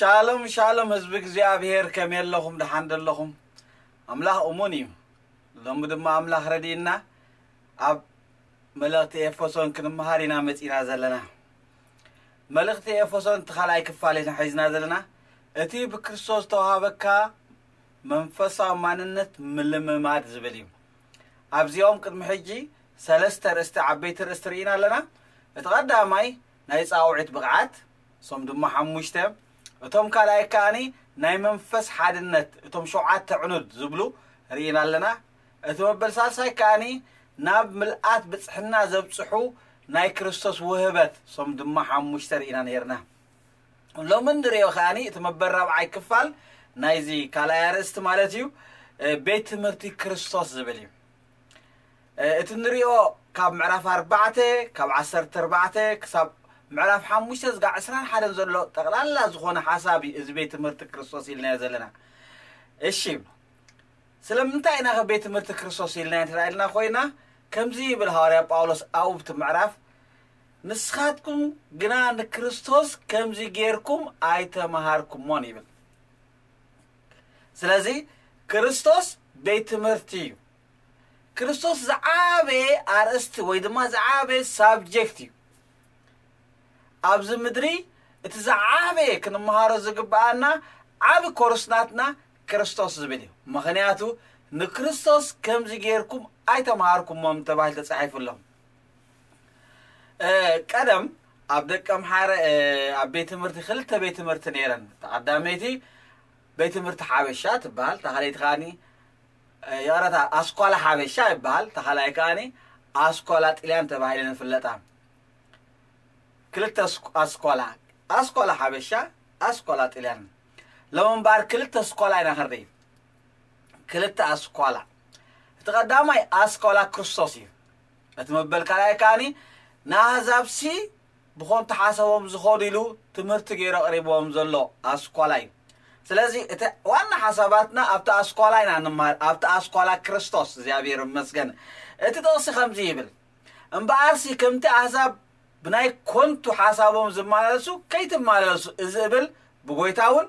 ሻሎም ሻሎም፣ ህዝቢ እግዚኣብሔር፣ ከመይ ኣለኹም? ደሓን ዶ ኣለኹም? ኣምላኽ እሙን እዩ። ሎሚ ድማ ኣምላኽ ረድእና ኣብ መልእኽቲ ኤፌሶን ክንመሃር ኢና መጺና ዘለና። መልእኽቲ ኤፌሶን እቲ ካልኣይ ክፋል ኢና ሒዝና ዘለና። እቲ ብክርስቶስ ዝተዋሃበካ መንፈሳዊ ማንነት ምልምማድ ዝብል እዩ። ኣብዚኦም ቅድሚ ሕጂ ሰለስተ ርእስቲ፣ ዓበይቲ ርእስቲ ርኢና ኣለና። እቲ ቀዳማይ ናይ ጻውዒት ብቕዓት፣ እሶም ድማ ሓሙሽተ። እቶም ካልኣይ ከኣኒ ናይ መንፈስ ሓድነት፣ እቶም ሸውዓተ ዕኑድ ዝብሉ ርኢና ኣለና። እቲ መበል ሳልሳይ ከኣኒ ናብ ምልኣት ብጽሕና ዘብጽሑ ናይ ክርስቶስ ውህበት፣ እሶም ድማ ሓሙሽተ ርኢና ነይርና። ሎሚ እንሪኦ ከኣኒ እቲ መበል ራብዓይ ክፋል ናይዚ ካልኣይ ኣርእስቲ ማለት እዩ፣ እ፣ ቤት ትምህርቲ ክርስቶስ ዝብል እዩ። እ፣ እቲ እንሪኦ ካብ ምዕራፍ ኣርባዕተ፣ ካብ ዓሰርተ ኣርባዕተ ክሳብ ምዕራፍ ሓሙሽተ ዝጋ ዕስራን ሓደን ዘሎ ጠቕላላ ዝኾነ ሓሳብ እዩ እዚ ቤት ትምህርቲ ክርስቶስ ኢልናዮ ዘለና። እሺ፣ ስለምንታይ ኢና ከ ቤት ትምህርቲ ክርስቶስ ኢልና እንተ ኢልና ኮይና፣ ከምዚ ይብል ሃዋርያ ጳውሎስ ኣብቲ ምዕራፍ፣ "ንስኻትኩም ግና ንክርስቶስ ከምዚ ጌርኩም ኣይተምሃርኩሞን" ይብል። ስለዚ ክርስቶስ ቤት ትምህርቲ እዩ። ክርስቶስ ዝዓበየ ኣርእስቲ ወይ ድማ ዝዓበየ ሳብጀክት እዩ። ኣብዚ ምድሪ እቲ ዝዓበየ ክንመሃሮ ዝግብኣና ዓቢ ኮርስ ናትና ክርስቶስ ዝብል እዩ። ምኽንያቱ ንክርስቶስ ከምዚ ጌርኩም ኣይተምሃርኩሞም ተባሂሉ ተጻሒፉ ኣሎ። እ፣ ቀደም ኣብ ደቀምሓረ፣ እ፣ ኣብ ቤት ትምህርቲ ክልተ ቤት ትምህርቲ ነይረን። እታ ቀዳመይቲ ቤት ትምህርቲ ሓበሻ ትበሃል፣ እታ ካልኣይቲ ከኣኒ፣ እ፣ ይቕረታ፣ ኣስኳላ ሓበሻ ይበሃል፣ እታ ካልኣይ ከኣኒ ኣስኳላ ጥልያን ተባሂለን ይፍለጣ። ክልተ ኣስኳ-፣ ኣስኳላ፣ ኣስኳላ ሓበሻ፣ ኣስኳላ ጥልያን። ሎሚ እምበኣር ክልተ ኣስኳላ ኢና ክንርኢ። ክልተ ኣስኳላ። እቲ ቀዳማይ ኣስኳላ ክርስቶስ እዩ። እቲ መበል ካልኣይ ከኣኒ ንኣህዛብሲ ብኾንቱ ሓሳቦም ዝኸዱ ኢሉ ትምህርቲ ገይሩ ኣቕሪብዎም ዘሎ ኣስኳላ እዩ። ስለዚ እቲ ዋና ሓሳባትና ኣብቲ ኣስኳላ ኢና ንመሃር፣ ኣብቲ ኣስኳላ ክርስቶስ፣ እግዚኣብሔር ይመስገን። እቲ ጥቕሲ ከምዚ ይብል፣ "እምበኣርሲ ከምቲ ኣህዛብ ብናይ ኮንቱ ሓሳቦም ዝመላለሱ ከይትመላለሱ" እዚ እብል ብጎይታ እውን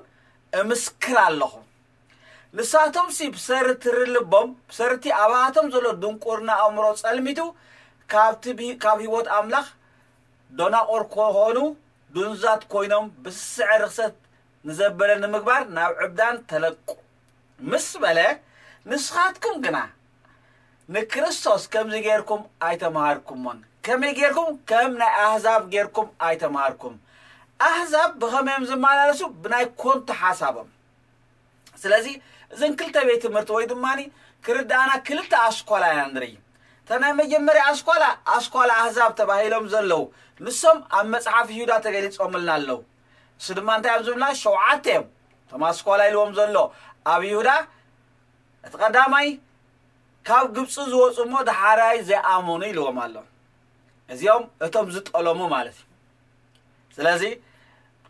እምስክር ኣለኹ። ንሳቶምሲ ብሰሪ ትሪ ልቦም፣ ብሰርቲ ኣባቶም ዘሎ ድንቁርና ኣእምሮ ጸልሚቱ፣ ካብቲ ብሂ-፣ ካብ ህይወት ኣምላኽ ደናቑር ኮኾኑ፣ ድንዛት ኮይኖም፣ ብስስዐ ርኽሰት ንዘበለ ንምግባር ናብ ዕብዳን ተለቁ። ምስ በለ፣ ንስኻትኩም ግና ንክርስቶስ ከምዚ ጌርኩም ኣይተምሃርኩሞን። ከመይ ጌርኩም? ከም ናይ ኣህዛብ ጌርኩም ኣይተምሃርኩም። ኣህዛብ ብኸመይ እዮም ዝመላለሱ? ብናይ ኮንቱ ሓሳቦም። ስለዚ እዘን ክልተ ቤት ትምህርቲ ወይ ድማ ክርዳእና ክልተ ኣስኳላ ኢና ንርኢ። እታ ናይ መጀመርያ ኣስኳላ፣ ኣስኳላ ኣህዛብ ተባሂሎም ዘለዉ፣ ንሶም ኣብ መጽሓፍ ይሁዳ ተገሊጾምልና ኣለዉ። እሱ ድማ እንታይ እዮም ዝብልና? ሸውዓተ እዮም። እቶም ኣስኳላ ኢልዎም ዘሎ ኣብ ይሁዳ፣ እቲ ቀዳማይ ካብ ግብፂ ዝወፁ እሞ ዳሕራይ ዘይኣመኑ ኢልዎም ኣሎ። እዚኦም እቶም ዝጠለሙ ማለት እዩ። ስለዚ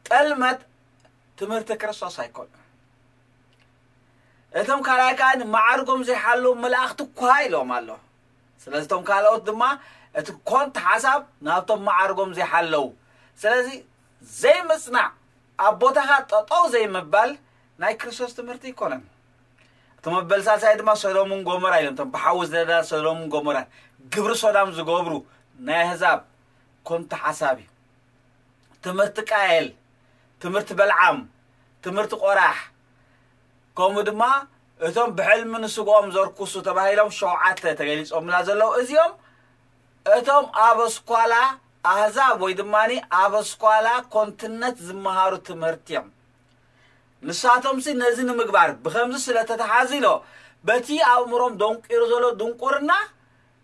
ጠልመት ትምህርቲ ክርስቶስ ኣይኮኑን። እቶም ካልኣይ ከዓ ንመዓርጎም ዘይሓለዉ መላእኽቲ እኳ ኢሎም ኣሎ። ስለዚ እቶም ካልኦት ድማ እቲ ኮንት ሓሳብ ናብቶም መዓርጎም ዘይሓለዉ። ስለዚ ዘይምጽናዕ፣ ኣብ ቦታኻ ጠጠው ዘይምባል ናይ ክርስቶስ ትምህርቲ ኣይኮነን። እቲ መበል ሳልሳይ ድማ ሶዶምን ጎሞራ ኢሎም፣ እቶም ብሓዊ ዝነዳ ሶዶምን ጎሞራን፣ ግብሪ ሶዳም ዝገብሩ ናይ ኣህዛብ ኮንት ሓሳብ እዩ። ትምህርቲ ቃየል፣ ትምህርቲ በልዓም፣ ትምህርቲ ቆራሕ፣ ከምኡ ድማ እቶም ብሕልሚ ንስግኦም ዘርኩሱ ተባሂሎም ሸውዓተ ተገሊጾምና ዘለዉ፣ እዚኦም እቶም ኣብ ኣስኳላ ኣህዛብ ወይ ድማ ኣብ ኣስኳላ ኮንትነት ዝመሃሩ ትምህርቲ እዮም። ንሳቶምሲ ነዚ ንምግባር ብኸምዚ ስለ ተተሓዚሎ፣ በቲ ኣእምሮም ደንቂሩ ዘሎ ድንቁርና፣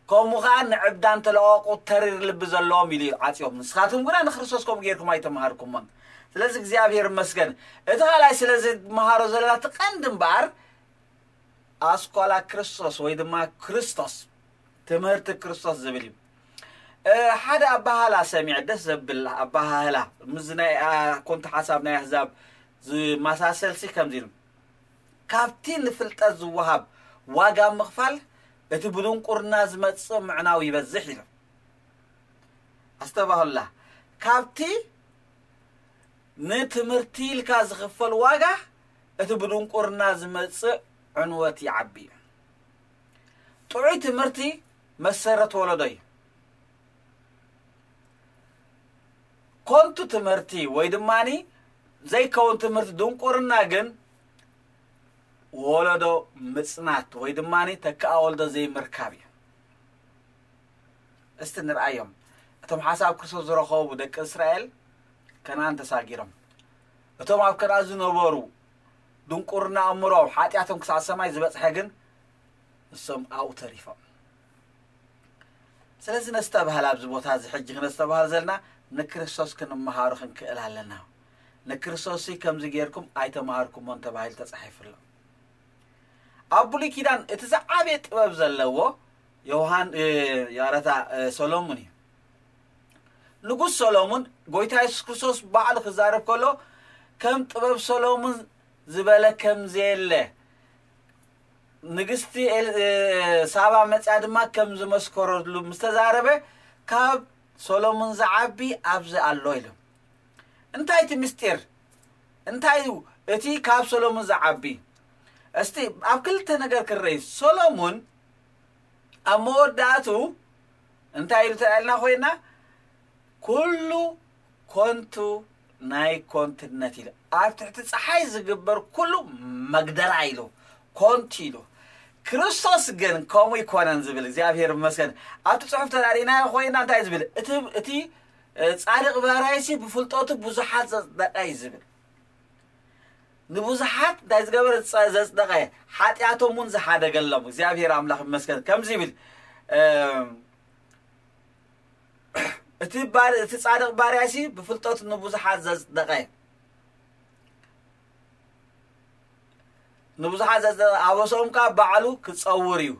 ከምኡ ኸዓ ንዕብዳን ተለቐቑ ተሪር ልቢ ዘለዎም ኢሉ እዩ ዓጽዮም። ንስኻትኩም ግና ንክርስቶስ ከምኡ ጌርኩም ኣይተምሃርኩሞን። ስለዚ እግዚኣብሔር ይመስገን። እቲ ኻልኣይ ስለዚ ንመሃሮ ዘለና እቲ ቀንዲ እምበኣር ኣስኳላ ክርስቶስ ወይ ድማ ክርስቶስ፣ ትምህርቲ ክርስቶስ ዝብል እዩ። እ፣ ሓደ ኣባሃህላ ሰሚዐ፣ ደስ ዘብል ኣባሃህላ፣ ምስዚ ናይ፣ ኣ፣ ኮንቱ ሓሳብ ናይ ኣህዛብ ዝመሳሰልሲ ከምዚ ኢሉ፣ "ካብቲ ንፍልጠት ዝወሃብ ዋጋ ምኽፋል፣ እቲ ብድንቁርና ዝመጽእ ምዕናው ይበዝሕ" ኢሉ። ኣስተባህሉላ። ካብቲ ንትምህርቲ ኢልካ ዝኽፈል ዋጋ፣ እቲ ብድንቁርና ዝመጽእ ዕንወት ይዓቢ እዩ። ጥዑይ ትምህርቲ መሰረት ወለዶ እዩ። ኮንቱ ትምህርቲ ወይ ድማኒ ዘይከውን ትምህርቲ፣ ድንቁርና ግን ወለዶ ምጽናት ወይ ድማኒ ተካኣ ወልዶ ዘይምርካብ እዩ። እስቲ ንርኣዮም። እቶም ሓሳብ ክርስቶስ ዝረኸቡ ደቂ እስራኤል ከነኣን ተሳጊሮም። እቶም ኣብ ከነኣን ዝነበሩ ድንቁርና ኣእምሮም፣ ሓጢኣቶም ክሳብ ሰማይ ዝበጽሐ ግን ንሶም ኣብኡ ተሪፎም። ስለዚ ነስተብሃል፣ ኣብዚ ቦታ እዚ ሕጂ ክነስተብሃል ዘለና ንክርስቶስ ክንመሃሩ ክንክእል ኣለና። ንክርስቶስ ከምዚ ጌርኩም ኣይተማሃርኩሞን ተባሂሉ ተጻሒፉ ኣሎ። ኣብ ብሉይ ኪዳን እቲ ዝዓበየ ጥበብ ዘለዎ ዮሃን፣ እ፣ ያረታ፣ እ፣ ሰሎሙን እዩ። ንጉስ ሰሎሙን ጎይታ የሱስ ክርስቶስ ባዕሉ ክዛረብ ከሎ ከም ጥበብ ሰሎሙን ዝበለ ከም ዘየለ ንግስቲ ኤል-፣ እ፣ ሳባ መጽያ ድማ ከም ዝመስከረሉ ምስ ተዛረበ ካብ ሰሎሙን ዝዓቢ ኣብዚ ኣሎ ኢሉ። እንታይ እቲ ምስጢር? እንታይ እዩ እቲ ካብ ሰሎሙን ዝዓቢ? እስቲ ኣብ ክልተ ነገር ክረይ። ሰሎሙን ኣብ መወዳእቱ እንታይ ኢሉ ተላልና ኮይና? "ኩሉ ኮንቱ ናይ ኮንትነት" ኢሉ። ኣብ ትሕቲ ጸሓይ ዝግበር ኩሉ መግደራ ኢሉ፣ ኮንቱ ኢሉ። ክርስቶስ ግን ከምኡ ይኮነን ዝብል፣ እግዚኣብሔር ይመስገን። ኣብቲ ጽሑፍ ተራዲናዮ ኮይና እንታይ ዝብል? እቲ፣ እቲ፣ እ፣ ጻድቕ ባርያይሲ ብፍልጠቱ ብዙሓት ዘጽደቐ እዩ ዝብል። ንብዙሓት እንታይ ዝገበረ? ዘ-፣ ዘጽደቐ፣ ሓጢኣቶም እውን ዝሓደገሎም። እግዚኣብሔር ኣምላኽ ይመስገን። ከምዚ ይብል፣ እ፣ እቲ ባር-፣ እቲ ጻድቕ ባርያሲ ብፍልጠቱ ንብዙሓት ዘጽደቐ፣ ንብዙሓት ዘጽደቐ፣ ኣበሶም ከኣ ባዕሉ ክጸውር እዩ።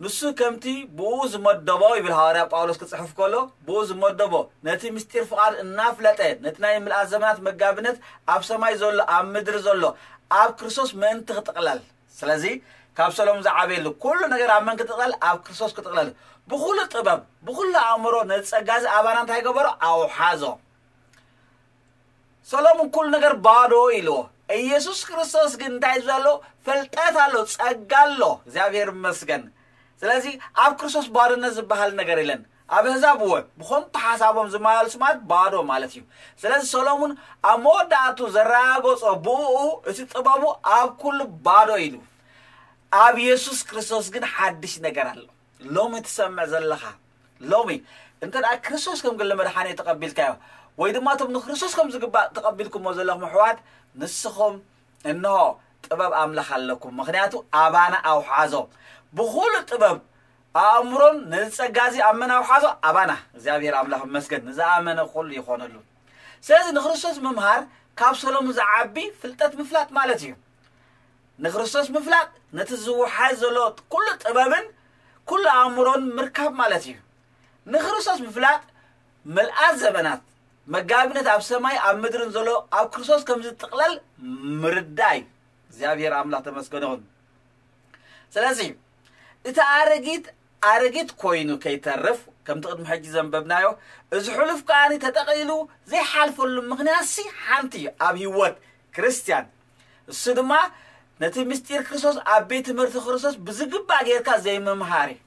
ንሱ ከምቲ ብኡ ዝመደቦ ይብል ሃዋርያ ጳውሎስ ክጽሕፍ ከሎ፣ ብኡ ዝመደቦ ነቲ ምስጢር ፍቓድ እናፍለጠ፣ ነቲ ናይ ምልኣት ዘመናት መጋቢነት ኣብ ሰማይ ዘሎ፣ ኣብ ምድሪ ዘሎ፣ ኣብ ክርስቶስ ምእንቲ ክጥቕለል። ስለዚ ካብ ሰሎም ዝዓበየሉ ኩሉ ነገር ኣብ መን ክጥቕለል? ኣብ ክርስቶስ ክጥቕለል። ብኹሉ ጥበብ፣ ብኹሉ ኣእምሮ ነዚ ጸጋ እዚ ኣባና እንታይ ገበሮ? ኣውሓዞ። ሰሎሙን ኩሉ ነገር ባዶ ኢልዎ። ኢየሱስ ክርስቶስ ግን እንታይ እዩ ዘሎ? ፍልጠት ኣሎ፣ ጸጋ ኣሎ። እግዚኣብሔር ይመስገን። ስለዚ ኣብ ክርስቶስ ባዶነት ዝበሃል ነገር የለን። ኣብ ኣህዛብ እወ፣ ብኾንቱ ሓሳቦም ዝመላለሱ ማለት ባዶ ማለት እዩ። ስለዚ ሰሎሙን ኣብ መወዳእቱ ዘረጋገጾ ብእኡ እቲ ጥበቡ ኣብ ኩሉ ባዶ ኢሉ። ኣብ የሱስ ክርስቶስ ግን ሓድሽ ነገር ኣሎ። ሎሚ ትሰምዕ ዘለኻ፣ ሎሚ እንተ ደኣ ክርስቶስ ከም ግሊ መድሓኒ ተቐቢልካዮ፣ ወይ ድማ እቶም ንክርስቶስ ከም ዝግባእ ተቐቢልኩሞ ዘለኹም ኣሕዋት፣ ንስኹም እንሆ ጥበብ ኣምላኽ ኣለኩም። ምኽንያቱ ኣባና ኣውሓዞ። ብኹሉ ጥበብ ኣእምሮን ነዚ ጸጋ እዚ ኣብ መን ኣውሓዞ? ኣባና። እግዚኣብሔር ኣምላኽ ይመስገን። ንዝኣመነ ኩሉ ይኾነሉ። ስለዚ ንክርስቶስ ምምሃር ካብ ሰሎሙን ዝዓቢ ፍልጠት ምፍላጥ ማለት እዩ። ንክርስቶስ ምፍላጥ ነቲ ዝውሓዝ ዘሎ ኩሉ ጥበብን ኩሉ ኣእምሮን ምርካብ ማለት እዩ። ንክርስቶስ ምፍላጥ ምልኣት ዘመናት መጋቢነት ኣብ ሰማይ ኣብ ምድርን ዘሎ ኣብ ክርስቶስ ከም ዝጥቕለል ምርዳእ እዩ። እግዚኣብሔር ኣምላኽ ተመስገነ ይኹን። ስለዚ እቲ ኣረጊት ኣረጊት ኮይኑ ከይተርፍ፣ ከምቲ ቅድሚ ሕጂ ዘንበብናዮ፣ እዚ ሕሉፍ ከኣ ተጠቕሊሉ ዘይሓልፈሉ ምኽንያት ሲ ሓንቲ እዩ ኣብ ህይወት ክርስትያን። እሱ ድማ ነቲ ምስጢር ክርስቶስ ኣብ ቤት ትምህርቲ ክርስቶስ ብዝግባእ ጌርካ ዘይምምሃር እዩ።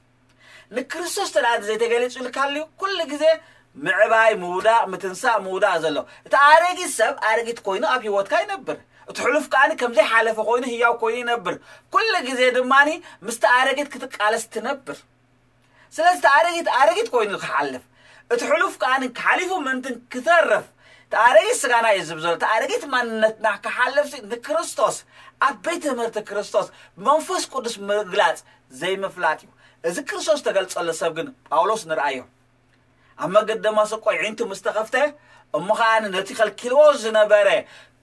ንክርስቶስ ተዳኣ ዘይተገሊጹልካ ኣልዩ፣ ኩሉ ግዜ ምዕባይ፣ ምውዳቕ፣ ምትንሳእ፣ ምውዳቕ ዘሎ። እቲ ኣረጊት ሰብ ኣረጊት ኮይኑ ኣብ ህይወትካ ይነብር። እቲ ሕሉፍ ከኣ ከም ዘይሓለፈ ኮይኑ ህያው ኮይኑ ይነብር። ኩሉ ግዜ ድማ ምስቲ ኣረጊት ክትቃለስ ትነብር። ስለዚ እቲ ኣረጊት ኣረጊት ኮይኑ ክሓልፍ፣ እቲ ሕሉፍ ከኣ ሓሊፉ ምእንትን ክተርፍ፣ እቲ ኣረጊት ስጋና እዩ ዝብል ዘሎ። እቲ ኣረጊት ማንነትና ክሓልፍ ሲ ንክርስቶስ፣ ኣብ ቤት ትምህርቲ ክርስቶስ፣ ብመንፈስ ቅዱስ ምግላጽ ዘይምፍላጥ እዩ። እዚ ክርስቶስ ተገልጸሉ ሰብ ግን ጳውሎስ ንርኣዮ። ኣብ መገዲ ደማስቆ ኣዒንቱ ምስ ተኸፍተ፣ እሞ ኸኣ ነቲ ከልኪልዎ ዝነበረ፣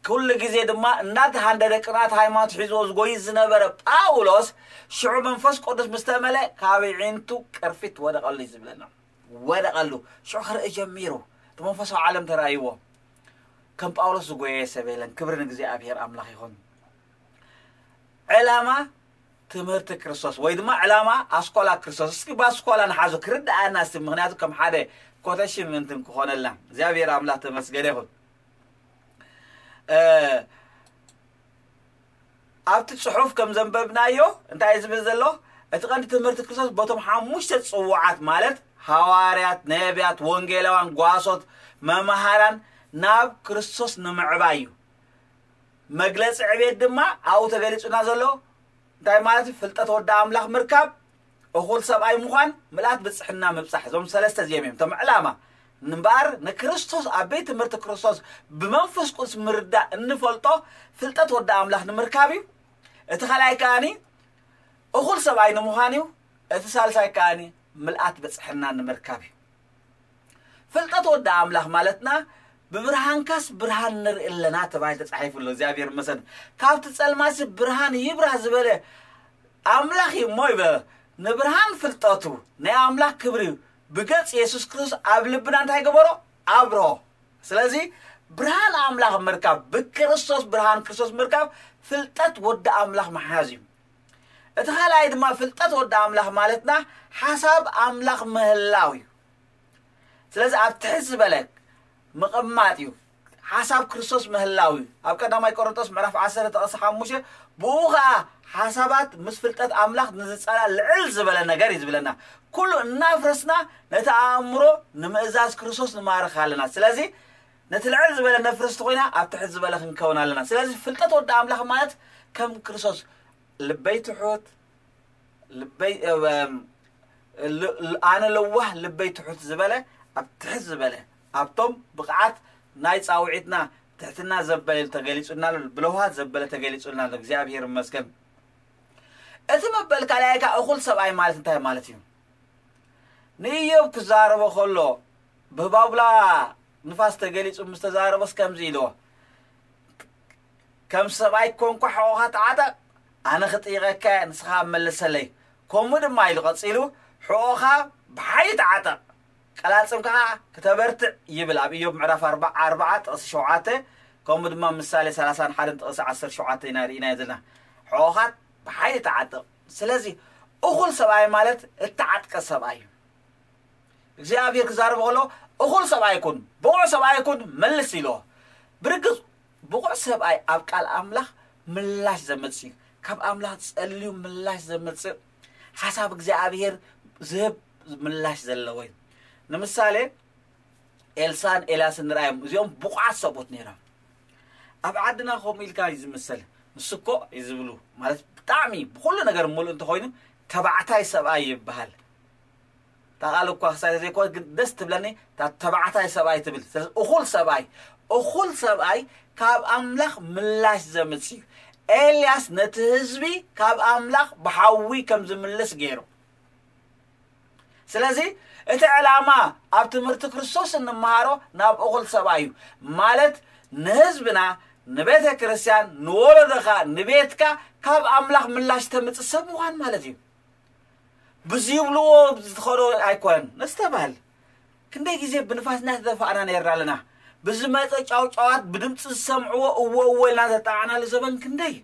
ኩሉ ግዜ ድማ እናተሃንደደ ቅንኣት ሃይማኖት ሒዝዎ ዝጎይ ዝነበረ ጳውሎስ፣ ሽዑ መንፈስ ቅዱስ ምስ ተመልአ፣ ካብ ኣዒንቱ ቅርፊት ወደቐሉ እዩ ዝብለና። ወደቐሉ። ሽዑ ክርኢ ጀሚሩ። እቲ መንፈሳዊ ዓለም ተራእይዎ። ከም ጳውሎስ ዝጎየ ሰብ የለን። ክብሪ ንእግዚኣብሔር ኣምላኽ ይኹን። ዕላማ ትምህርቲ ክርስቶስ ወይ ድማ ዕላማ ኣስኳላ ክርስቶስ። እስኪ ብኣስኳላ ንሓዞ ክርድኣና እስቲ፣ ምኽንያቱ ከም ሓደ ኮተሽን ምእንትን ክኾነልና። እግዚኣብሔር ኣምላኽ ተመስገነ ይኹን። እ፣ ኣብቲ ጽሑፍ ከም ዘንበብናዮ እንታይ እዩ ዝብል ዘሎ? እቲ ቀንዲ ትምህርቲ ክርስቶስ በቶም ሓሙሽተ ጽዋዓት ማለት ሃዋርያት፣ ነቢያት፣ ወንጌላውያን፣ ጓሶት፣ መምሃራን ናብ ክርስቶስ ንምዕባይ እዩ። መግለጺ ዕቤት ድማ ኣብኡ ተገሊጹና ዘሎ እንታይ ማለት እዩ? ፍልጠት ወዲ ኣምላኽ ምርካብ፣ እኹል ሰብኣይ ምዃን፣ ምልኣት ብጽሕና ምብጻሕ። እዞም ሰለስተ እዚኦም እዮም እቶም ዕላማ። እምበኣር ንክርስቶስ ኣብ ቤት ትምህርቲ ክርስቶስ ብመንፈስ ቅዱስ ምርዳእ እንፈልጦ ፍልጠት ወዲ ኣምላኽ ንምርካብ እዩ። እቲ ካልኣይ ከኣኒ እኹል ሰብኣይ ንምዃን እዩ። እቲ ሳልሳይ ከኣኒ ምልኣት ብጽሕና ንምርካብ እዩ። ፍልጠት ወዲ ኣምላኽ ማለትና ብብርሃንካስ ብርሃን ንርኢ ኣለና ተባሂሉ ተጻሒፉ ኣሎ። እግዚኣብሔር ይመስገን። ካብቲ ጸልማሲ ብርሃን ይብራህ ዝበለ ኣምላኽ እዩ እሞ ይበ-፣ ንብርሃን ፍልጠቱ ናይ ኣምላኽ ክብሪ ብገጽ የሱስ ክርስቶስ ኣብ ልብና እንታይ ገበሮ? ኣብሮ። ስለዚ ብርሃን ኣምላኽ ምርካብ፣ ብክርስቶስ ብርሃን ክርስቶስ ምርካብ ፍልጠት ወዲ ኣምላኽ ምሓዝ እዩ። እቲ ካልኣይ ድማ ፍልጠት ወዲ ኣምላኽ ማለትና ሓሳብ ኣምላኽ ምህላው እዩ። ስለዚ ኣብ ትሕት ዝበለ ምቕማጥ እዩ። ሓሳብ ክርስቶስ ምህላው እዩ። ኣብ ቀዳማይ ቆሮንቶስ ምዕራፍ ዓሰርተ ጥቕሲ ሓሙሽተ፣ ብኡ ኸዓ ሓሳባት ምስ ፍልጠት ኣምላኽ ንዝጸላ ልዕል ዝበለ ነገር እዩ ዝብለና። ኩሉ እናፍረስና ነቲ ኣእምሮ ንምእዛዝ ክርስቶስ ንማርኽ ኣለና። ስለዚ ነቲ ልዕል ዝበለ ነፍርስ ተኾይና ኣብ ትሕት ዝበለ ክንከውን ኣለና። ስለዚ ፍልጠት ወዲ ኣምላኽ ማለት ከም ክርስቶስ ልበይ ትሑት፣ ልበይ፣ እም፣ ል-፣ ል-፣ ኣነ ለዋህ ልበይ ትሑት ዝበለ ኣብ ትሕት ዝበለ ኣብቶም ብቕዓት ናይ ጻውዒትና ትሕትና ዘበለ ተገሊጹልና ኣሎ፣ ብለውሃት ዘበለ ተገሊጹልና ኣሎ። እግዚኣብሔር ይመስገን። እቲ መበል ካልኣይ ከኣ እኹል ሰብኣይ ማለት እንታይ ማለት እዩ? ንኢዮብ ክዛረቦ ከሎ ብባቡላ ንፋስ ተገሊጹ ምስ ተዛረቦስ ከምዚ ኢልዎ፣ ከም ሰብኣይ ኮንኳ ሕቖኻ ተዓጠቕ፣ ኣነ ክጥይቐካ እየ፣ ንስኻ መልሰለይ። ከምኡ ድማ ኢሉ ቀጺሉ፣ ሕቖኻ ብሓይሊ ተዓጠቕ፣ ቀላጽም ከዓ ክተበርትዕ ይብል። ኣብ ኢዮብ ምዕራፍ ኣርባ፣ ኣርባዓ ጥቕሲ ሸውዓተ፣ ከምኡ ድማ ምሳሌ ሰላሳን ሓደን ጥቕሲ ዓሰርተ ሸውዓተ ኢና ርኢናዮ ዘለና። ሕቖኻ ብሓይሊ ተዓጠቕ። ስለዚ እኹል ሰብኣይ ማለት እተዓጥቀ ሰብኣይ እዩ። እግዚኣብሔር ክዛረብ ከሎ እኹል ሰብኣይ ኩን፣ ብቑዕ ሰብኣይ ኩን መልስ ኢልዎ። ብርግጽ ብቑዕ ሰብኣይ ኣብ ቃል ኣምላኽ ምላሽ ዘመጽእ እዩ። ካብ ኣምላኽ ጸልዩ ምላሽ ዘመጽእ፣ ሓሳብ እግዚኣብሔር ዝህብ ምላሽ ዘለዎ እዩ። ንምሳሌ ኤልሳን ኤልያስን ንርኣዮም፣ እዚኦም ብቑዓት ሰብኡት ነይሮም። ኣብ ዓድና ከምኡ ኢልካ እዩ ዝምሰል። ንሱ እኮ እዩ ዝብሉ፣ ማለት ብጣዕሚ ብኹሉ ነገር ምሉእ እንተኾይኑ ተባዕታይ ሰብኣይ ይበሃል። እታ ቃል እኳ ክሳይ ዘይኮነት ግን ደስ ትብለኒ፣ እታ ተባዕታይ ሰብኣይ ትብል። ስለዚ እኹል ሰብኣይ፣ እኹል ሰብኣይ ካብ ኣምላኽ ምላሽ ዘምጽእ እዩ። ኤልያስ ነቲ ህዝቢ ካብ ኣምላኽ ብሓዊ ከም ዝምልስ ገይሩ። ስለዚ እቲ ዕላማ ኣብ ትምህርቲ ክርስቶስ እንመሃሮ ናብ እኹል ሰብኣይ እዩ። ማለት ንህዝብና፣ ንቤተ ክርስቲያን፣ ንወለዶኻ፣ ንቤትካ ካብ ኣምላኽ ምላሽ ተምጽእ ሰብ ምዃን ማለት እዩ። ብዝይብልዎ ዝኸዶ ኣይኮነን። ነስተብሃል። ክንደይ ግዜ ብንፋስ እናተደፋእና ነይርና ኣለና። ብዝመጸ ጫውጫዋት ብድምፂ ዝሰምዕዎ እዎ እዎ ኢልና ዘጣዕናሉ ዘበን ክንደይ።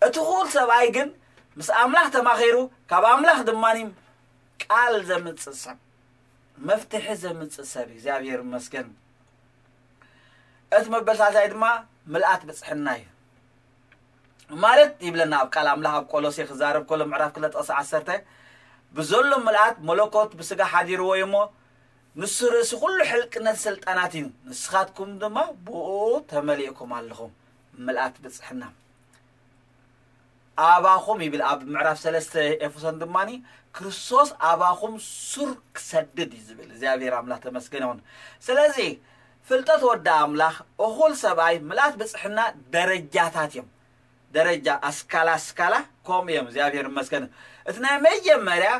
እቲ ኹል ሰብኣይ ግን ምስ ኣምላኽ ተማኺሩ፣ ካብ ኣምላኽ ድማ ቃል ዘምጽእ ሰብ፣ መፍትሒ ዘምጽእ ሰብ፣ እግዚኣብሔር ይመስገን። እቲ መበል ሳልሳይ ድማ ምልኣት ብጽሕና እዩ። ማለት ይብለና ኣብ ቃል ኣምላኽ ኣብ ቆሎሴ ክዛረብ ከሎ ምዕራፍ ክልተ ጥቕሲ ዓሰርተ፣ ብዘሎ ምልኣት መለኮት ብስጋ ሓዲርዎ እዩ እሞ፣ ንሱ ርእሲ ኩሉ ሕልቅነት ስልጣናት እዩ፣ ንስኻትኩም ድማ ብኡ ተመሊእኩም ኣለኹም። ምልኣት ብጽሕና። ኣባኹም ይብል ኣብ ምዕራፍ ሰለስተ ኤፌሶን ድማ፣ ክርስቶስ ኣባኹም ሱር ክሰድድ እዩ ዝብል። እግዚኣብሔር ኣምላኽ ተመስገን ይኹን። ስለዚ ፍልጠት ወዲ ኣምላኽ፣ እኹል ሰብኣይ፣ ምልኣት ብጽሕና ደረጃታት እዮም። ደረጃ ኣስካላ ኣስካላ ከምኡ እዮም። እግዚኣብሔር ይመስገን። እቲ ናይ መጀመርያ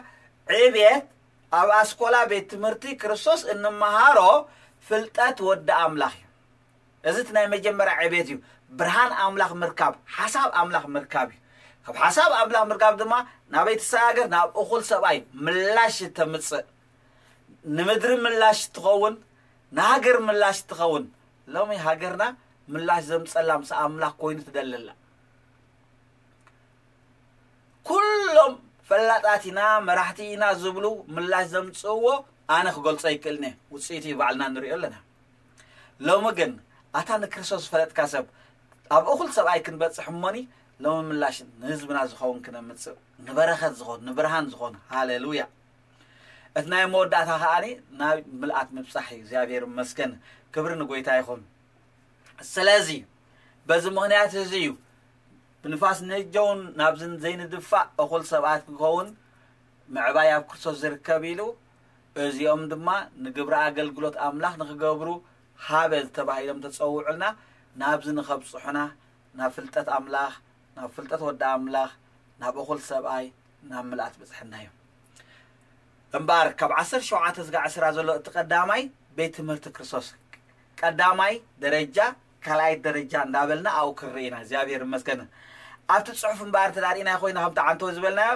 ዕብየት ኣብ ኣስኮላ ቤት ትምህርቲ ክርስቶስ እንመሃሮ ፍልጠት ወዲ ኣምላኽ እዩ። እዚ እቲ ናይ መጀመርያ ዕብየት እዩ። ብርሃን ኣምላኽ ምርካብ፣ ሓሳብ ኣምላኽ ምርካብ እዩ። ካብ ሓሳብ ኣምላኽ ምርካብ ድማ ናበይ ትሰጋገር? ናብ እኹል ሰብኣይ ምላሽ ተምጽእ። ንምድሪ ምላሽ ትኸውን፣ ንሃገር ምላሽ ትኸውን። ሎሚ ሃገርና ምላሽ ዘምጸላ ምስ ኣምላኽ ኮይኑ ትደሊ ኣላ። ኩሎም ፈላጣት ኢና፣ መራሕቲ ኢና ዝብሉ ምላሽ ዘምጽእዎ ኣነ ክገልጾ ኣይክእልን እየ። ውጽኢቱ ባዕልና ንሪኦ ኣለና። ሎሚ ግን ኣታ ንክርስቶስ ዝፈለጥካ ሰብ፣ ኣብ እኹል ሰብኣይ ክንበጽሕ እሞኒ፣ ሎሚ ምላሽ ንህዝብና ዝኸውን ክነምጽእ፣ ንበረኸት ዝኾን፣ ንብርሃን ዝኾን። ሃሌሉያ። እቲ ናይ መወዳእታ ከኣኒ ናብ ምልኣት ምብጻሕ እዩ። እግዚኣብሔር ይመስገን። ክብሪ ንጎይታ ይኹን። ስለዚ በዚ ምኽንያት እዚ እዩ ብንፋስ ንጀውን ናብዝን ዘይንድፋእ እኹል ሰባት ክንከውን ምዕባይ ኣብ ክርስቶስ ዝርከብ ኢሉ፣ እዚኦም ድማ ንግብሪ ኣገልግሎት ኣምላኽ ንኽገብሩ ሃበ ዝተባሂሎም ተጸውዑልና፣ ናብዚ ንኸብጽሑና፣ ናብ ፍልጠት ኣምላኽ፣ ናብ ፍልጠት ወዲ ኣምላኽ፣ ናብ እኹል ሰብኣይ፣ ናብ ምልኣት ብጽሕና እዩ። እምበኣር ካብ ዓሰርተ ሸውዓተ ዝጋ ዕስራ ዘሎ እቲ ቀዳማይ ቤት ትምህርቲ ክርስቶስ፣ ቀዳማይ ደረጃ፣ ካልኣይ ደረጃ እንዳበልና ኣብኡ ክንርኢ ኢና። እግዚኣብሔር ይመስገን። ኣብቲ ጽሑፍ እምበኣር እንተ ዳርኢና ኮይና፣ ከምቲ ዓንተው ዝበልናዮ፣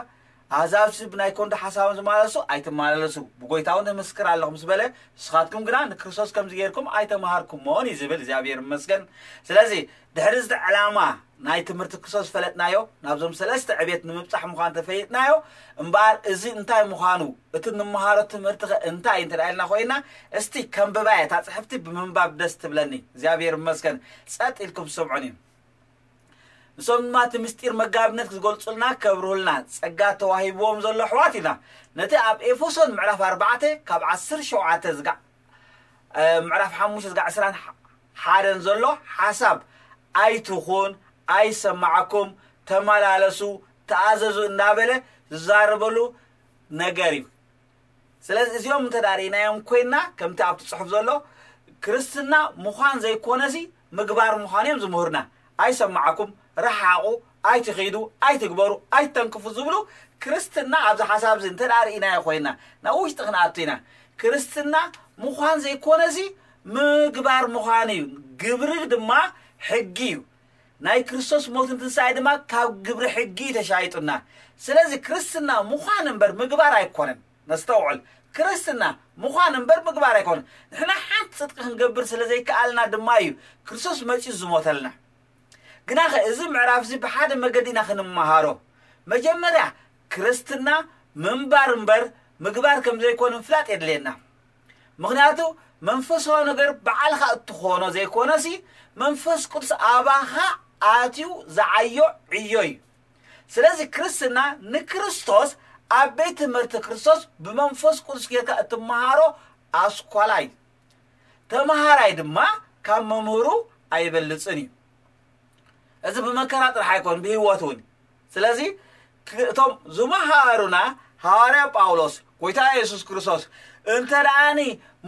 ኣሕዛብሲ ብናይ ኮንዶ ሓሳቦም ዝመላለሱ ኣይትመላለሱ፣ ብጎይታ እውን እምስክር ኣለኹ ምስ በለ፣ ንስኻትኩም ግና ንክርስቶስ ከምዚ ጌርኩም ኣይተምሃርኩሞን እዩ ዝብል። እግዚኣብሔር ይመስገን። ስለዚ ድሕሪ እዚ ዕላማ ናይ ትምህርቲ ክርስቶስ ዝፈለጥናዮ፣ ናብዞም ሰለስተ ዕቤት ንምብጻሕ ምዃን ተፈሊጥናዮ። እምበኣር እዚ እንታይ ምዃኑ፣ እቲ ንምሃሮ ትምህርቲ ኸ እንታይ እንተ ኢልና ኮይና፣ እስቲ ከንብባየ፣ እታ ጽሕፍቲ ብምንባብ ደስ ትብለኒ። እግዚኣብሔር ይመስገን። ጸጥ ኢልኩም ስምዑኒ። ንሶም ድማ እቲ ምስጢር መጋብነት ክገልጹልና፣ ከብርሁልና ጸጋ ተዋሂብዎም ዘሎ ኣሕዋት ኢና። ነቲ ኣብ ኤፌሶን ምዕራፍ ኣርባዕተ ካብ ዓሰርተ ሸውዓተ ዝጋ-፣ እ፣ ምዕራፍ ሓሙሽተ ዝጋ ዕስራን ሓደን ዘሎ ሓሳብ፣ ኣይትኹን፣ ኣይሰማዓኩም፣ ተመላለሱ፣ ተኣዘዙ እንዳበለ ዝዛረበሉ ነገር እዩ። ስለዚ እዚኦም እንተ ደኣ ርኢናዮም ኮይንና፣ ከምቲ ኣብቲ ጽሑፍ ዘሎ፣ ክርስትና ምዃን ዘይኮነሲ ምግባር ምዃን እዮም ዝምህሩና። ኣይሰማዓኩም፣ ረሓቑ፣ ኣይትኺዱ፣ ኣይትግበሩ፣ ኣይትተንክፉ ዝብሉ ክርስትና ኣብዚ ሓሳብ እዚ እንተ ደኣ ርኢናዮ ኮይንና፣ ናብ ውሽጢ ክንኣቱ ኢና። ክርስትና ምዃን ዘይኮነሲ ምግባር ምዃን እዩ። ግብሪ ድማ ሕጊ እዩ። ናይ ክርስቶስ ሞትን ትንሳኤ ድማ ካብ ግብሪ ሕጊ ተሻይጡና። ስለዚ ክርስትና ምዃን እምበር ምግባር ኣይኮነን። ነስተውዕል። ክርስትና ምዃን እምበር ምግባር ኣይኮነን። ንሕና ሓንቲ ጽድቂ ክንገብር ስለ ዘይከኣልና ድማ እዩ ክርስቶስ መጺኡ ዝሞተልና። ግናኸ እዚ ምዕራፍ እዚ ብሓደ መገዲ ኢና ክንመሃሮ። መጀመርያ ክርስትና ምንባር እምበር ምግባር ከም ዘይኮነ ምፍላጥ የድልየና። ምኽንያቱ መንፈሳዊ ነገር ባዕልኻ እትኾኖ ዘይኮነሲ መንፈስ ቅዱስ ኣባኻ ኣትዩ ዝዓዮ ዕዮ እዩ። ስለዚ ክርስትና ንክርስቶስ ኣብ ቤት ትምህርቲ ክርስቶስ ብመንፈስ ቅዱስ ጌርካ እትመሃሮ ኣስኳላ እዩ። ተመሃራይ ድማ ካብ መምህሩ ኣይበልጽን እዩ። እዚ ብመከራ ጥራሕ ኣይኮን፣ ብህይወት እውን። ስለዚ ክ-፣ እቶም ዝመሃሩና ሃዋርያ ጳውሎስ፣ ጎይታ የሱስ ክርስቶስ፣ እንተ ደኣኒ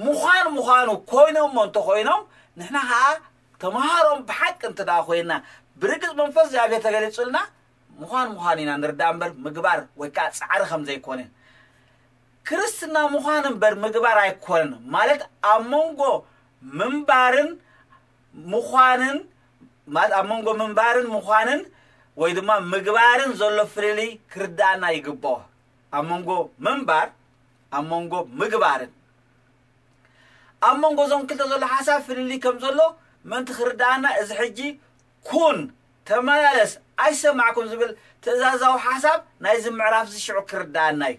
ምዃን ምዃኑ ኮይኖሞ እንተኾይኖም፣ ንሕና ኸዓ ተምሃሮም ብሓቂ እንተ ደኣ ኮይንና፣ ብርግጽ መንፈስ እግዚኣብሔር ተገሊጹልና፣ ምዃን ምዃኑ ኢና ንርዳእ እምበር ምግባር ወይ ከዓ ጻዕሪ ከም ዘይኮነ። ክርስትና ምዃን እምበር ምግባር ኣይኮነን። ማለት ኣብ መንጎ ምንባርን ምዃንን፣ ማለት ኣብ መንጎ ምንባርን ምዃንን ወይ ድማ ምግባርን ዘሎ ፍልልይ ክርዳእና ይግብኦ። ኣብ መንጎ ምንባር፣ ኣብ መንጎ ምግባርን። ኣብ መንጎ እዞም ክልተ ዘሎ ሓሳብ ፍልልይ ከም ዘሎ ምእንቲ ክርዳእና፣ እዚ ሕጂ ኩን፣ ተመላለስ፣ ኣይሰማዕኩን ዝብል ትእዛዛዊ ሓሳብ ናይዚ ምዕራፍ እዚ ሽዑ ክርዳእና እዩ።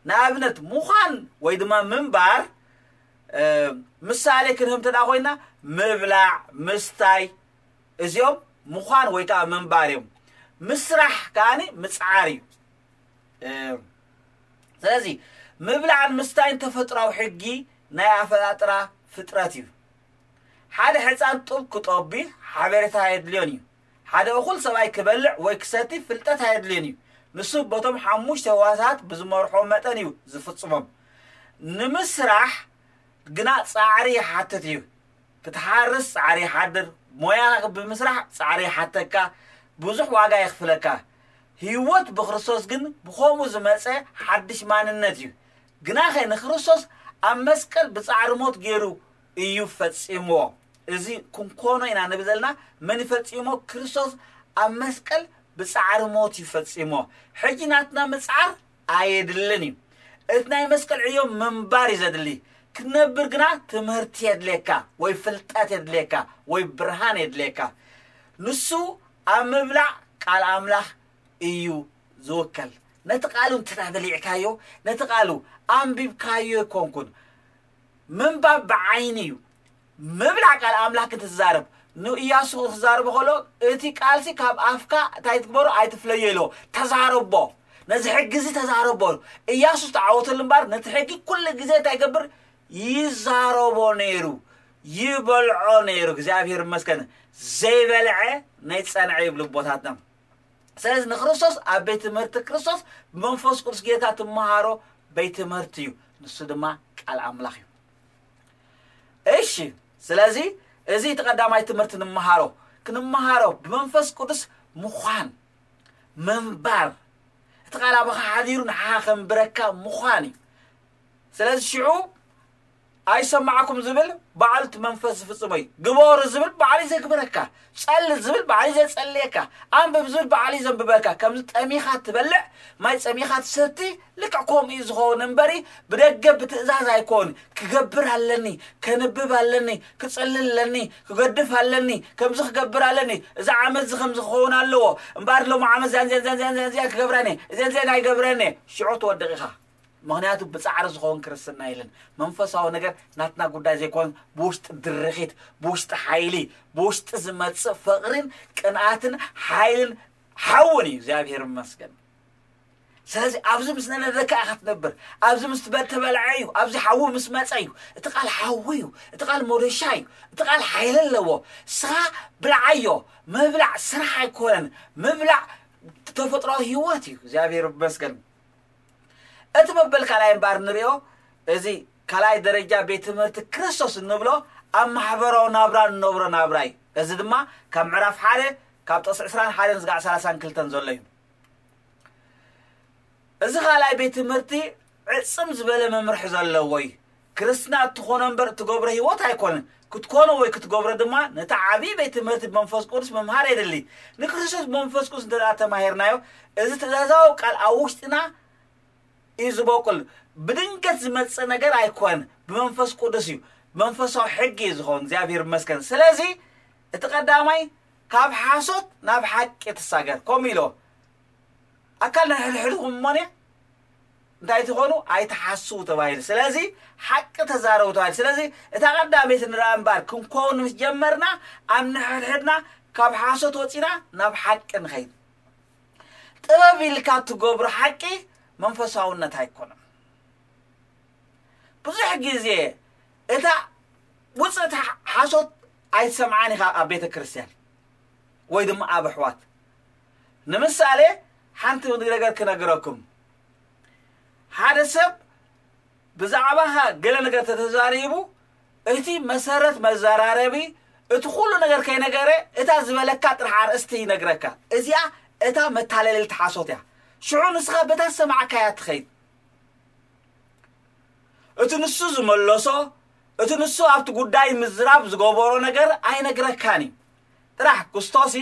ንኣብነት ምዃን ወይ ድማ ምንባር፣ እ፣ ምሳሌ ክንህብ እንተ ደኣ ኮይና፣ ምብላዕ፣ ምስታይ፣ እዚኦም ምዃን ወይ ከዓ ምንባር እዮም። ምስራሕ ከኣኒ ምጽዓር እዩ። እ፣ ስለዚ ምብላዕን ምስታይን ተፈጥሯዊ ሕጊ ናይ ኣፈጣጥራ ፍጥረት እዩ። ሓደ ሕፃን ጡብ ክጠቢ ሓበሬታ ኣየድልዮን እዩ። ሓደ እኹል ሰብኣይ ክበልዕ ወይ ክሰቲ ፍልጠት ኣየድልዮን እዩ። ንሱ በቶም ሓሙሽተ ህዋሳት ብዝመርሖ መጠን እዩ ዝፍጽሞም። ንምስራሕ ግና ጻዕሪ ይሓትት እዩ። ክትሓርስ ጻዕሪ ይሓድር፣ ሞያኻ ብምስራሕ ጻዕሪ ይሓተካ፣ ብዙሕ ዋጋ የኽፍለካ። ህይወት ብክርስቶስ ግን ብኸምኡ ዝመጸ ሓድሽ ማንነት እዩ። ግናኸ ንክርስቶስ ኣብ መስቀል ብጻዕሪ ሞት ገይሩ እዩ ፈጺምዎ። እዚ ክንኮኖ ኢና ንብል ዘለና። መን እዩ ፈጺሞ? ክርስቶስ ኣብ መስቀል ብጻዕሪ ሞት እዩ ፈጺሞ። ሕጂ ናትና ምጽዓር ኣየድልን እዩ። እቲ ናይ መስቀል ዕዮ ምንባር እዩ ዘድሊ። ክትነብር ግና ትምህርቲ የድልየካ፣ ወይ ፍልጠት የድልየካ፣ ወይ ብርሃን የድልየካ። ንሱ ኣብ ምብላዕ ቃል ኣምላኽ እዩ ዝውከል። ነቲ ቃሉ እንተ በሊዕካዮ፣ ነቲ ቃሉ ኣንቢብካዮ ኣይኮንኩን። ምንባብ ብዓይኒ እዩ። ምብላዕ ቃል ኣምላኽ ክትዛረብ ንእያሱ ክዛረቦ ከሎ እቲ ቃልሲ ካብ ኣፍካ እንታይ ትግበሮ ኣይትፍለዮ ኢሎ ተዛረቦ። ነዚ ሕጊ እዚ ተዛረቦ። እያሱ ዝተዓወተሉ እምበር ነቲ ሕጊ ኩሉ ግዜ እንታይ ይገብር ይዛረቦ ነይሩ፣ ይበልዖ ነይሩ። እግዚኣብሔር ይመስገን። ዘይበልዐ ናይ ጸንዐ ይብሉ ኣቦታትና። ስለዚ ንክርስቶስ ኣብ ቤት ትምህርቲ ክርስቶስ ብመንፈስ ቅዱስ ጌታ ትመሃሮ ቤት ትምህርቲ እዩ። ንሱ ድማ ቃል ኣምላኽ እዩ። እሺ፣ ስለዚ እዚ እቲ ቀዳማይ ትምህርቲ ንምሃሮ ክንመሃሮ ብመንፈስ ቅዱስ ምዃን ምንባር እቲ ቃል ኣባኻ ሓዲሩ ንዓኻ ከንብረካ ምዃን እዩ። ስለዚ ሽዑ ኣይሰማዕኩም ዝብል ባዕሉ እቲ መንፈስ ዝፍጽሞ እዩ። ግበሩ ዝብል ባዕሉ ዘግብረካ፣ ጸሊ ዝብል ባዕሉ ዘጸልየካ፣ ኣንብብ ዝብል ባዕሉ ዘንብበካ። ከምዚ ጠሚኻ ትበልዕ ማይ ጸሚኻ ትሰቲ ልክዕ ከምኡ እዩ ዝኸውን እምበሪ ብደገ ብትእዛዝ ኣይኮን። ክገብር ኣለኒ፣ ከንብብ ኣለኒ፣ ክጽሊ ኣለኒ፣ ክገድፍ ኣለኒ፣ ከምዚ ክገብር ኣለኒ፣ እዚ ዓመት እዚ ከምዚ ክኸውን ኣለዎ እምበኣር ሎም ዓመት ዚያን ዚያን ዚያን ዚያን ዚያን ክገብረኒ እዚያን ዚያን ኣይገብረኒ። ሽዑ ትወድቕ ኢኻ። ምኽንያቱ ብጻዕሪ ዝኸውን ክርስትና የለን። መንፈሳዊ ነገር ናትና ጉዳይ ዘይኮን ብውሽጢ ድርኺት፣ ብውሽጢ ሓይሊ፣ ብውሽጢ ዝመጽእ ፍቕርን ቅንኣትን ሓይልን ሓውን እዩ። እግዚኣብሔር ይመስገን። ስለዚ ኣብዚ ምስ ነነደካ ኢኻ ትነብር። ኣብዚ ምስ ትበል ተበልዐ እዩ። ኣብዚ ሓዊ ምስ መጸ እዩ። እቲ ቃል ሓዊ እዩ። እቲ ቃል ሞደሻ እዩ። እቲ ቃል ሓይሊ ኣለዎ። ስኻ ብልዓዮ። ምብላዕ ስራሕ ኣይኮነን። ምብላዕ ተፈጥሮ ህይወት እዩ። እግዚኣብሔር ይመስገን። እቲ መበል ካልኣይ እምበኣር ንሪኦ፣ እዚ ካልኣይ ደረጃ ቤት ትምህርቲ ክርስቶስ እንብሎ ኣብ ማሕበራዊ ናብራ እንነብሮ ናብራ እዩ። እዚ ድማ ካብ ምዕራፍ ሓደ ካብ ጥቕሲ ዕስራን ሓደን ዝጋዕ ሰላሳን ክልተን ዘሎ እዩ። እዚ ካልኣይ ቤት ትምህርቲ ዕጽም ዝበለ መምርሒ ዘለዎ እዩ። ክርስትና እትኾኖ እምበር እትገብሮ ህይወት ኣይኮነን። ክትኮኖ ወይ ክትገብሮ ድማ ነቲ ዓብዪ ቤት ትምህርቲ ብመንፈስ ቅዱስ ምምሃር የድሊ። ንክርስቶስ ብመንፈስ ቅዱስ እንተ ደኣ ተማሂርናዮ፣ እዚ ትእዛዛዊ ቃል ኣብ ውሽጥና እዩ ዝበቁል። ብድንገት ዝመጽእ ነገር ኣይኮን፣ ብመንፈስ ቅዱስ እዩ። መንፈሳዊ ሕጊ እዩ ዝኸውን። እግዚኣብሔር ይመስገን። ስለዚ እቲ ቀዳማይ ካብ ሓሶት ናብ ሓቂ ትሳገር። ከምኡ ኢሎ ኣካል ንሕድሕድኹም እሞኔ እንታይ ትኾኑ ኣይትሓስቡ ተባሂሉ። ስለዚ ሓቂ ተዛረቡ ተባሂሉ። ስለዚ እታ ቀዳመይቲ ንርኣ እምበር ክንከውን ምስ ጀመርና ኣብ ንሕድሕድና ካብ ሓሶት ወፂና ናብ ሓቂ ንኸይድ። ጥበብ ኢልካ ትገብሮ ሓቂ መንፈሳውነት ኣይኮነን። ብዙሕ ግዜ እታ ውፅእቲ ሓሶት ኣይትሰምዓን ኢኻ ኣብ ቤተ ክርስቲያን ወይ ድማ ኣብ ኣሕዋት። ንምሳሌ ሓንቲ ነገር ክነግረኩም። ሓደ ሰብ ብዛዕባኻ ገለ ነገር ተተዛሪቡ እቲ መሰረት መዘራረቢ እቲ ኩሉ ነገር ከይነገረ እታ ዝበለካ ጥራሕ ኣርእስቲ ይነግረካ። እዚኣ እታ መታለልቲ ሓሶት እያ። ሽዑ ንስኻ በታ ዝሰማዕካያ ትኸይድ። እቲ ንሱ ዝመለሶ እቲ ንሱ ኣብቲ ጉዳይ ምዝራብ ዝገበሮ ነገር ኣይነግረካን እዩ። ጥራሕ ክስቶሲ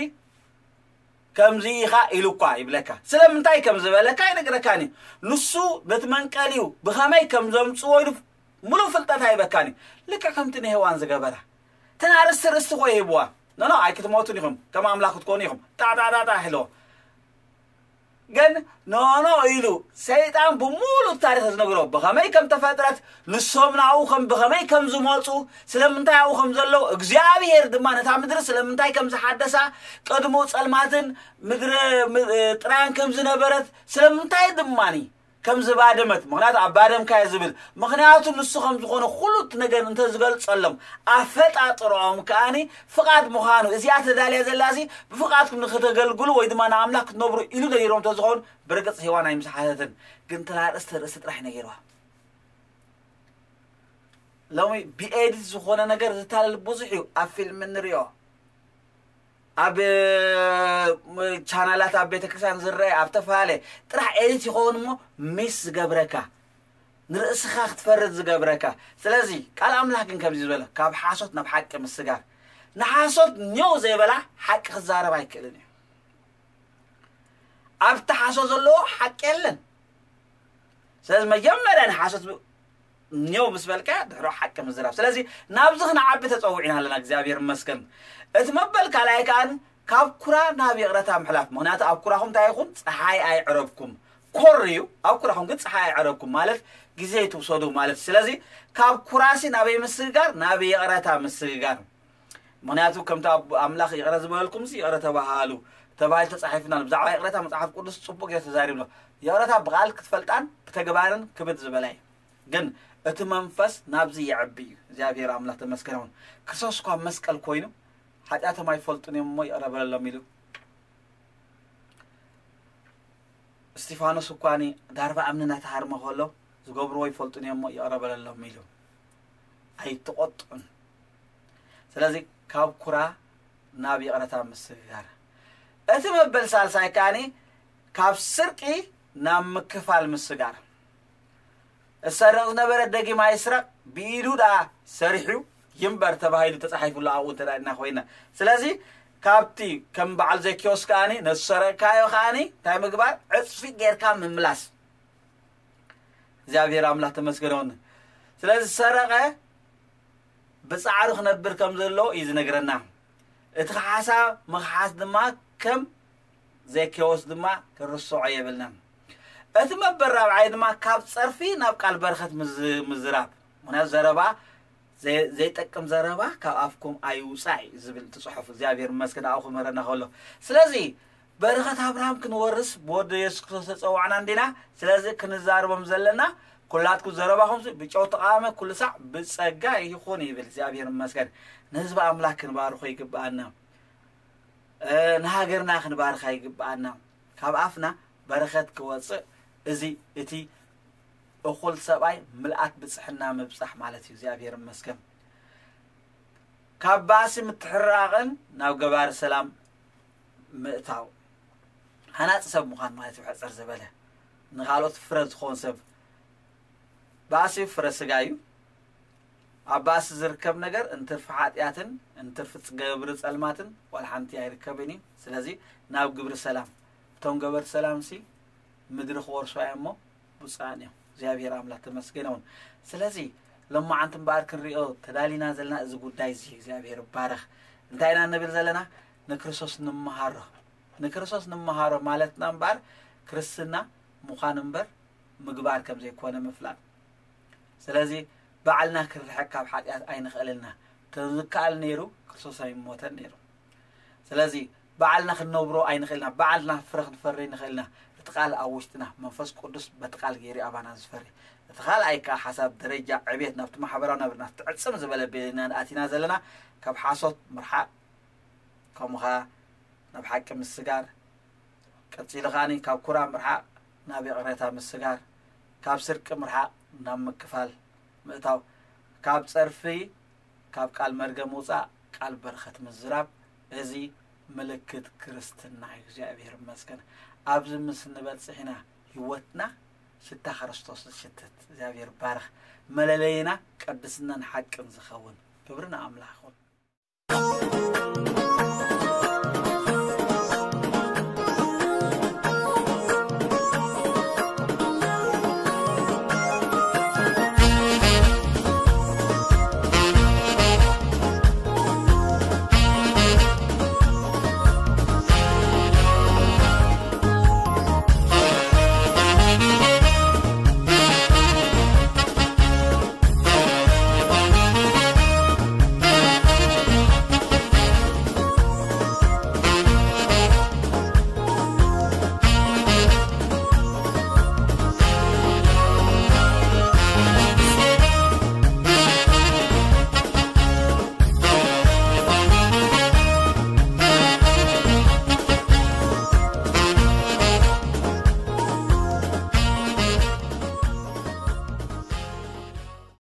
ከምዚ ኢኻ ኢሉ እኳ ይብለካ። ስለምንታይ ከም ዝበለካ ኣይነግረካን እዩ። ንሱ ነቲ መንቀሊኡ ብኸመይ ከም ዘምጽዎ ኢሉ ሙሉእ ፍልጠት ኣይበካን እዩ። ልክዕ ከምቲ ንሄዋን ዝገበራ። ተን ኣርእስቲ ርእስቲ ኮ ይህብዋ። ኖኖ ኣይክትሞቱን ኢኹም፣ ከም ኣምላኽ ክትኮኑ ኢኹም። ጣጣጣጣ ኢልዎ። ግን ኖኖ ኢሉ ሰይጣን ብሙሉእ ታሪኽ ዝነግሮ ብኸመይ ከም ተፈጥረት፣ ንሶም ናብኡ ከም ብኸመይ ከም ዝመፁ፣ ስለምንታይ ኣብኡ ከም ዘለዉ፣ እግዚኣብሔር ድማ ነታ ምድሪ ስለምንታይ ከም ዝሓደሳ፣ ቅድሙ ጸልማትን ምድሪ ም- ጥራያን ከም ዝነበረት፣ ስለምንታይ ድማኒ ከም ዝባደመት፣ ምኽንያቱ ኣብ ባደምካዮ ዝብል፣ ምኽንያቱ ንሱ ከም ዝኾነ ኩሉ እቲ ነገር እንተ ዝገልጸሎም፣ ኣፈጣጥሮኦም ከኣኒ ፍቓድ ምዃኑ፣ እዚኣ ተዳልያ ዘላሲ ብፍቓድኩም ንክተገልግሉ ወይ ድማ ንኣምላኽ ክትነብሩ ኢሉ ነጊሮም እንተዝኸውን፣ ብርግጽ ሄዋን ኣይምስሓተትን። ግን ተላርእስቲ ርእስቲ ጥራሕ ነጊርዋ። ሎሚ ብኤዲት ዝኾነ ነገር ዝታለል ብዙሕ እዩ። ኣብ ፊልም እንሪኦ፣ ኣብ ቻናላት፣ ኣብ ቤተክርስትያን ዝረአ፣ ኣብ ተፈላለየ ጥራሕ ኤዲት ይኸውን እሞ ሚስ ዝገብረካ፣ ንርእስኻ ክትፈርድ ዝገብረካ። ስለዚ ቃል ኣምላኽ ግን ከምዚ ዝበለ ካብ ሓሶት ናብ ሓቂ ምስጋር። ንሓሶት ኔው ዘይበላ ሓቂ ክዛረብ ኣይክእልን እዩ። ኣብቲ ሓሶት ዘለዎ ሓቂ የለን። ስለዚ መጀመርያ ንሓሶት ብ- ኔው ምስ በልካ ድሕሮ ሓቂ ምዝራብ። ስለዚ ናብዚ ክንዓቢ ተጸዊዕና ኣለና። እግዚኣብሔር ይመስገን። እቲ መበል ካልኣይ ከኣ ካብ ኩራ ናብ ይቕረታ ምሕላፍ። ምኽንያቱ ኣብ ኩራኹም እንታይ ይኹን? ፀሓይ ኣይዕረብኩም። ኮር እዩ። ኣብ ኩራኹም ግን ፀሓይ ኣይዕረብኩም ማለት ግዜ ኣይትውሰዱ ማለት። ስለዚ ካብ ኩራሲ ናበይ ምስግጋር? ናብ ይቕረታ ምስግጋር። ምክንያቱ ከምቲ ኣብ ኣምላኽ ይቕረ ዝበለልኩም ሲ ይቕረ ተባሃሉ ተባሂሉ ተጻሒፉና ኣሎ። ብዛዕባ ይቕረታ መጽሓፍ ቅዱስ ጽቡቅ ገይሩ ተዛሪብሎ። ይቕረታ ብቓል ክትፈልጣን ብተግባርን ክብድ ዝበለ እዩ። ግን እቲ መንፈስ ናብዚ ይዕቢ እዩ። እግዚኣብሔር ኣምላኽ ተመስገን ይኹን። ክርስቶስ እኳ መስቀል ኮይኑ ሓጢኣቶም ኣይፈልጡን እዮም እሞ ይቕረ በለሎም ኢሉ። እስጢፋኖስ እኳ ዳርባ እምኒ እናተሃርመ ከሎ ዝገብርዎ ይፈልጡን እዮም እሞ ይቕረ በለሎም ኢሉ ኣይትቆጥዑን። ስለዚ ካብ ኩራ ናብ ይቕረታ ምስግጋር። እቲ መበል ሳልሳይ ከኣኒ ካብ ስርቂ ናብ ምክፋል ምስጋር። እሰርቕ ዝነበረ ደጊም ኣይስረቕ፣ ብኢዱ ደኣ ሰሪሑ ይንበር ተባሂሉ ተጻሒፉሉ ኣብኡ እንተ ደኣ ኮይና። ስለዚ ካብቲ ከም በዓል ዘኪዮስ ከኣኒ ነቲ ሰረቕካዮ ከኣኒ እንታይ ምግባር? ዕጽፊ ጌርካ ምምላስ። እግዚኣብሔር ኣምላኽ ተመስገን ይኹን። ስለዚ ዝሰረቐ ብጻዕሩ ክነብር ከም ዘለዎ እዩ ዝነግረና። እቲ ክሓሳ ምኽሓስ ድማ ከም ዘኬዎስ ድማ ክንርስዖ የብልናን። እቲ መበል ራብዓይ ድማ ካብ ጸርፊ ናብ ቃል በረኸት ምዝ-፣ ምዝራብ። ምኽንያቱ ዘረባ ዘይ-፣ ዘይጠቅም ዘረባ ካብ ኣፍኩም ኣይውጻእ እዩ ዝብል እቲ ጽሑፍ። እግዚኣብሔር ይመስገን ኣብኡ ክምህረና ከሎ። ስለዚ በረኸት ኣብርሃም ክንወርስ ብወዲ የሱስ ክርስቶስ ተጸዋዕና እንዲና። ስለዚ ክንዛረቦም ዘለና ኩላትኩም ዘረባኹም ብጨው ተቃወመ ኩሉ ሳዕ ብጸጋ ይኹን ይብል። እግዚኣብሔር ይመስገን። ንህዝቢ ኣምላኽ ክንባርኾ ይግብኣና። እ፣ ንሃገርና ክንባርኻ ይግብኣና። ካብ ኣፍና በረኸት ክወጽእ እዚ እቲ እኹል ሰብኣይ ምልኣት ብጽሕና ምብጻሕ ማለት እዩ። እግዚኣብሔር ይመስገን። ካብ ባእሲ ምትሕራቕን ናብ ገባሪ ሰላም ምእታው ሃናጺ ሰብ ምዃን ማለት እዩ። ሕጽር ዝበለ ንኻልኦት ፍረ ዝኾን ሰብ። ባእሲ ፍረ ስጋ እዩ። ኣብ ባእሲ ዝርከብ ነገር እንትርፊ ሓጢኣትን እንትርፊ ገብሪ ጸልማትን ዋላ ሓንቲ ኣይርከብን እዩ። ስለዚ ናብ ግብሪ ሰላም። እቶም ገበርቲ ሰላም ሲ ምድሪ ክወርሱ እዮም እሞ ብፁዓን እዮም። እግዚኣብሔር ኣምላኽ ተመስገን ይኹን። ስለዚ ሎማዓንቲ እምበኣር ክንሪኦ ተዳሊና ዘለና እዚ ጉዳይ እዚ እግዚኣብሔር ይባረኽ። እንታይ ኢና ንብል ዘለና? ንክርስቶስ ንምሃሮ። ንክርስቶስ ንምሃሮ ማለትና እምበኣር ክርስትና ምዃን እምበር ምግባር ከም ዘይኮነ ምፍላጥ። ስለዚ ባዕልና ክንርሕቅ ካብ ሓጢኣት ኣይንኽእልና። ተዝከኣል ነይሩ ክርስቶስ ኣይሞተን ነይሩ። ስለዚ ባዕልና ክንነብሮ ኣይንኽእልና፣ ባዕልና ፍረ ክንፈሪ ንኽእልና። እቲ ቃል ኣብ ውሽጥና መንፈስ ቅዱስ በቲ ቃል ገይሩ ኣባና ዝፈሪ። እቲ ካልኣይ ከዓ ሓሳብ ደረጃ ዕቤት ናብቲ ማሕበራዊ ናብርና ትዕጽም ዝበለ ቤና ኣቲና ዘለና ካብ ሓሶት ምርሓቅ፣ ከምኡ ከዓ ናብ ሓቂ ምስጋር፣ ቀጺሉ ከኣኒ ካብ ኩራ ምርሓቅ ናብ ይቕሬታ ምስጋር፣ ካብ ስርቂ ምርሓቅ ናብ ምክፋል ምእታው፣ ካብ ጸርፊ ካብ ቃል መርገም ምውጻእ ቃል በረኸት ምዝራብ፣ እዚ ምልክት ክርስትና እዩ። እግዚኣብሔር ይመስገን። ኣብዚ ምስ ንበጽሕ ኢና ህይወትና ሽታ ክርስቶስ ዝሽትት። እግዚኣብሔር ባረኽ። መለለይና ቅድስናን ሓቅን ዝኸውን። ክብሪ ንኣምላኽ ይኹን።